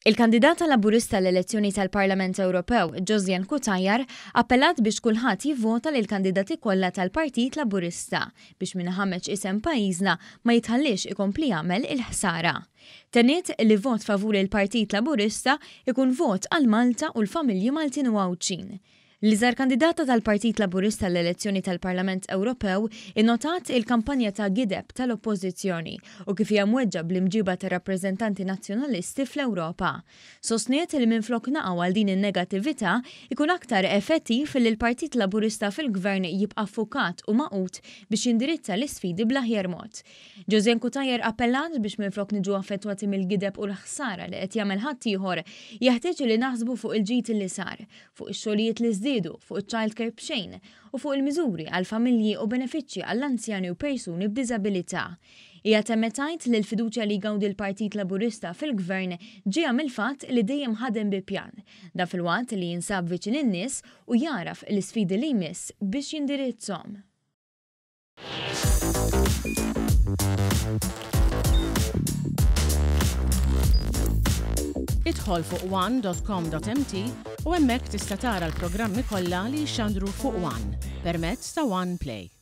Il-kandidata Laburista għall-elezzjoni tal-Parlament Ewropew, Josianne Cutajar, appellat biex kulħadd jivvota lill-kandidati kollha tal-Partit Laburista biex min iħammeġ isem pajjiżna ma jitħalliex ikompli jagħmel il-ħsara. Tenniet li vot favur il-Partit Laburista jkun vot għal Malta u l-familji Maltin u Għawdxin. L-iżgħar kandidata tal-Partit Laburista għall-elezzjoni tal-Parlament Ewropew innotat il-kampanja ta' gideb tal-Oppożizzjoni u kif hija mweġġa' bl-imġiba tar-rappreżentanti Nazzjonalisti fl-Ewropa. Sostniet li minflok naqgħu għal din in-negattività, ikun aktar effettiv li l-Partit Laburista fil-Gvern jibqa' ffukat u magħqud biex jindirizza l-isfidi bl-aħjar mod. Josianne Cutajar appellat biex minflok niġu affettwati mill-gideb u l-ħsara li qed jagħmel ħaddieħor, jeħtieġ li naħsbu fuq il-ġid li sar, fuq ix-xogħlijiet li żdiedu, fuq iċ-childcare b'xejn, u fuq il-miżuri għall-familji u benefiċċji għall-anzjani u persuni b'diżabilità. Hija temmet tgħid li l-fiduċja li jgawdi l-Partit Laburista fil-Gvern ġejja mill-fatt li dejjem ħadem bi pjan. Dan filwaqt li jinsab viċin in-nies u jagħraf l-isfidi li jmiss biex jindirizzhom. Idħol fuq one.com.mt u hemmhekk tista' tara l-programmi kollha li jixxandru fuq One permezz ta' One Play.